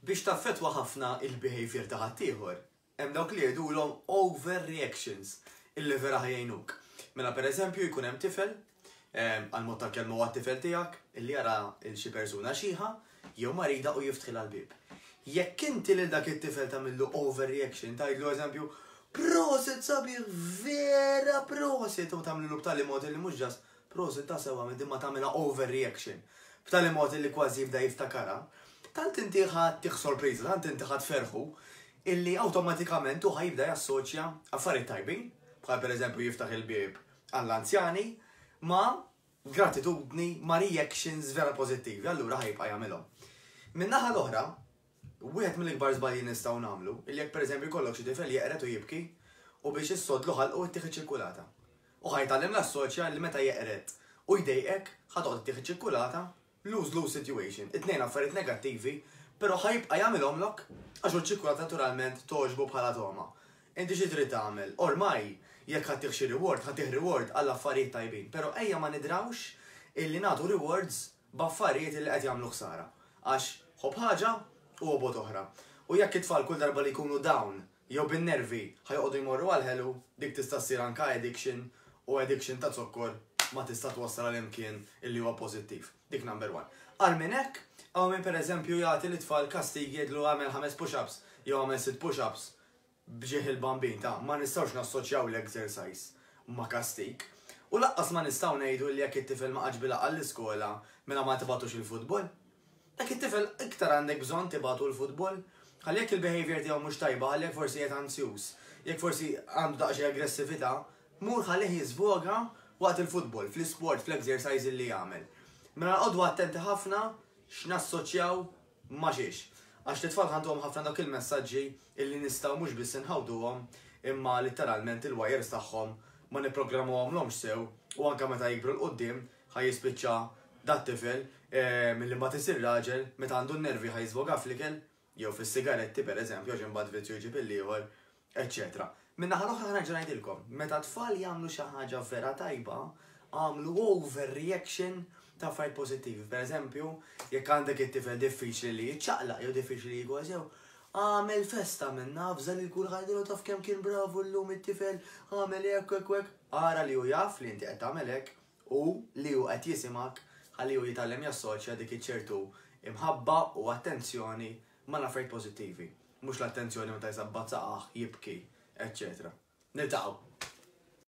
Biex taffettwa ħafna il-behavior ta' ħaddieħor, hemm dawk li jgħidulhom overreactions illi vera ħa jgħinuk. Mela pereżempju jkun hemm tifel, għall-mod tal-kelma huwa t-tifel tiegħek, illi jara 'l xi persuna xiħa jew marida u jiftħilha l-bieb. Jekk inti lil dak it-tifel tagħmillu overreaction, tgħidlu eżempju, prosit sabiħ, vera prosit, u tagħmlilu b'tali mod illi mhux just Prosit ta' sew għamilt imma tagħmilha overreaction b'tali mod illi kważi jibda jiftakarha. Tant inti ħa ttih sorpriża, tant inti ħa tferrħu illi awtomatikament hu ħa jibda jassoċja affarijiet tajbin, bħal pereżempju jiftaħ il-bieb għall-anzjani, ma' gratitudni, ma' reactions vera pożittivi, allura ħa jibqa' jagħmilhom. Min-naħa l-oħra, Wieħed mill-ikbar żbalji li nistgħu nagħmlu, illi jekk pereżempju jkollok xi tifel jeqred u jibki u biex issodlu ħalqu ittih iċ-ċikkulata. U ħa jitgħallem l-assoċja li meta jeqred u jdejqek ħa toqgħod ittih iċ-ċikkulata, lose-lose situation, it-tnejn affarijiet negattivi, però ħa jibqa' jagħmilhomlok għax hu ċ-ċikkulata naturalment togħġbu bħala togħma. Inti xi trid tagħmel? Ormai jekk ħa ttih xi reward, ħa ttih reward għall-affarijiet tajbin, però ejja ma nidrawx illi nagħtu rewards b'affarijiet illi qed jagħmlu ħsara. Għax ħobb ħaġa u obgħod oħra. U jekk it-tfal kull darba li jkunu down jew bin-nervi ħa joqogħdu jmorru għall-ħelu, dik tista' ssir anka addiction u addiction ta' zokkor ma tista' twassal għal imkien illi huwa pożittiv. Dik number one. Agħar minn hekk, hawn min pereżempju jagħti lit-tfal kastigi jgħidlu agħmel ħames push-ups jew agħmel sitt push-ups b'ġieħ il-Bambin ta' ma nistgħux nassoċjaw l-exercise ma' kastig. U laqqas ma nistgħu ngħidu li jekk it-tifel ma qagħadx bil-għaqal l-iskola mela ma tibgħatux il-futbol. Dak it-tifel iktar għandek bżonn tibgħatu l-futbol. Ħalli jekk il-behaviour tiegħu mhux tajba, ħalli jekk forsi qiegħed anzjuż, jekk forsi għandu daqsxejn aggressività, mur ħallih jiżvoga waqt il-futbol, fl-isport, fl-exercise li jagħmel. Mela noqogħdu attenti ħafna x'nassoċjaw Ma xiex. Għax lit-tfal ħantuhom ħafna dawk il-messaġġi illi nistgħu mhux biss inħawduhom imma litteralment il-wires tagħhom ma nipprogrammawhomlhomx sew u anke meta jikbru 'l quddiem ħa jispiċċa dat-tifel milli mbagħad isir raġel meta għandu n-nervi ħa jiżvoga fl-ikel jew fis-sigaretti pereżempju għax imbagħad vizzju jġib il-ieħor eċċetera. Min-naħa l-oħra ħa nerġa' ngħidilkom, meta t-tfal jagħmlu xi ħaġa vera tajba, agħmlu overreaction ta' affarijiet pożittivi. Per eżempju, jekk għandek it-tifel diffiċli li jiċċaqlaq jew diffiċli li jieku sew, agħmel festa minnha, avża lil kulħadd għidilhom taf kemm kien bravu llum it-tifel, għamel hekk u hekk u hekk. Ara li hu jaf li inti qed tagħmel hekk u li hu qed jisimgħek ħalli hu jitgħallem jassoċja dik iċ-ċertu imħabba u attenzjoni mal-affarijiet pożittivi. Mhux l-attenzjoni meta jsabbat saqajh, jibki, eċċetera. Niltaqgħu!